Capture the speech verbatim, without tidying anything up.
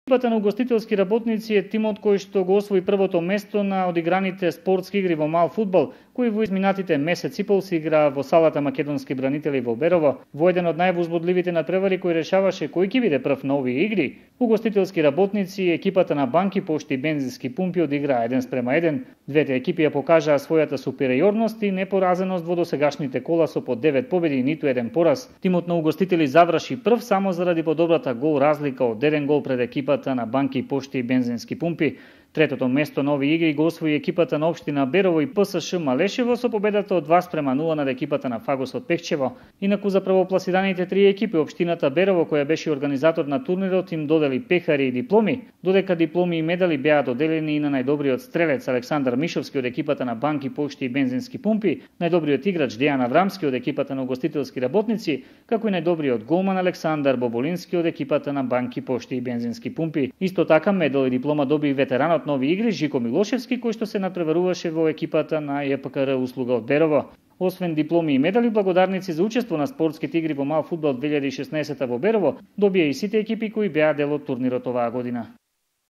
Екипата на угостителски работници е тимот кој што го освои првото место на одиграните спортски игри во мал фудбал, кои во изминатите месец и пол се играа во салата Македонски бранители во Берово, во еден од највозбудливите надпревари кој решаваше кој ќе биде прв на овие игри. Угостителски работници и екипата на банки, пошти и бензински пумпи одиграа еден спрема еден. Двете екипи ја покажаа својата супериорност и непоразеност во досегашните кола со по девет победи и ниту еден пораз. Тимот на угостители заврши прв само заради подобрата гол разлика од еден гол пред екипата на банки, пошти и бензински пумпи. Третото место на овие игри го освои екипата на општина Берово и ПСШ Малешево со победата од два спрема нула над екипата на Фагос од Пехчево. Инаку за првопласираните три екипи општината Берово, која беше организатор на турнирот, им додели пехари и дипломи, додека дипломи и медали беа доделени и на најдобриот стрелец Александар Мишовски од екипата на банки, пошти и бензински пумпи, најдобриот играч Дејан Аврамски од екипата на угостителски работници, како и најдобриот голман Александар Боболински од екипата на банки, пошти и бензински пумпи. Исто така медал и диплома доби и ветеранот нови игри Жико Милошевски, кој што се надпреваруваше во екипата на ЈПКР услуга од Берово. Освен дипломи и медали, благодарници за учество на спортските игри во мал фудбал две илјади и шеснаесета во Берово, добија и сите екипи кои беа дел од турнирот оваа година.